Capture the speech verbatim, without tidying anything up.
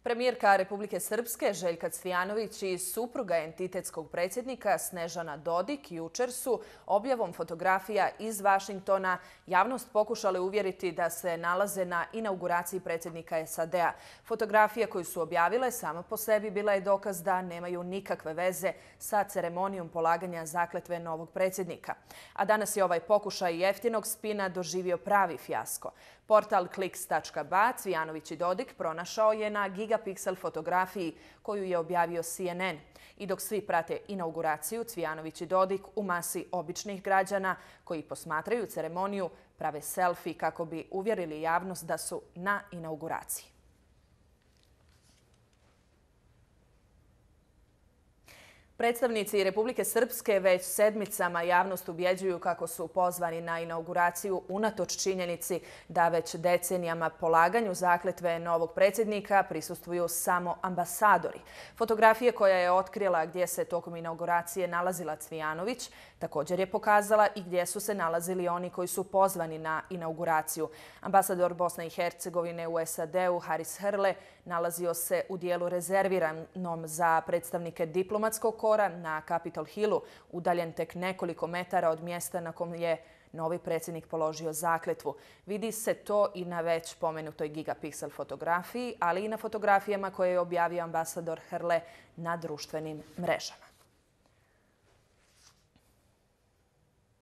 Premijerka Republike Srpske Željka Cvijanović i supruga entitetskog predsjednika Snežana Dodik jučer su objavom fotografija iz Vašingtona javnost pokušali uvjeriti da se nalaze na inauguraciji predsjednika S A D-a. Fotografije koju su objavile sama po sebi bila je dokaz da nemaju nikakve veze sa ceremonijom polaganja zakletve novog predsjednika. A danas je ovaj pokušaj jeftinog spina doživio pravi fijasko. Portal kliks tačka ba Cvijanović i Dodik pronašao je na gigapiksel fotografiji koju je objavio C N N. I dok svi prate inauguraciju, Cvijanović i Dodik u masi običnih građana koji posmatraju ceremoniju prave selfie kako bi uvjerili javnost da su na inauguraciji. Predstavnici Republike Srpske već sedmicama javnost ubjeđuju kako su pozvani na inauguraciju unatoč činjenici da već decenijama polaganju zakletve novog predsjednika prisustvuju samo ambasadori. Fotografije koja je otkrila gdje se tokom inauguracije nalazila Cvijanović također je pokazala i gdje su se nalazili oni koji su pozvani na inauguraciju. Ambasador Bosne i Hercegovine u S A D-u Haris Hrle nalazio se u dijelu rezerviranom za predstavnike diplomatskog kora na Capitol Hillu, udaljen tek nekoliko metara od mjesta na kom je novi predsjednik položio zakletvu. Vidi se to i na već pomenutoj gigapiksel fotografiji, ali i na fotografijama koje je objavio ambasador Hrle na društvenim mrežama.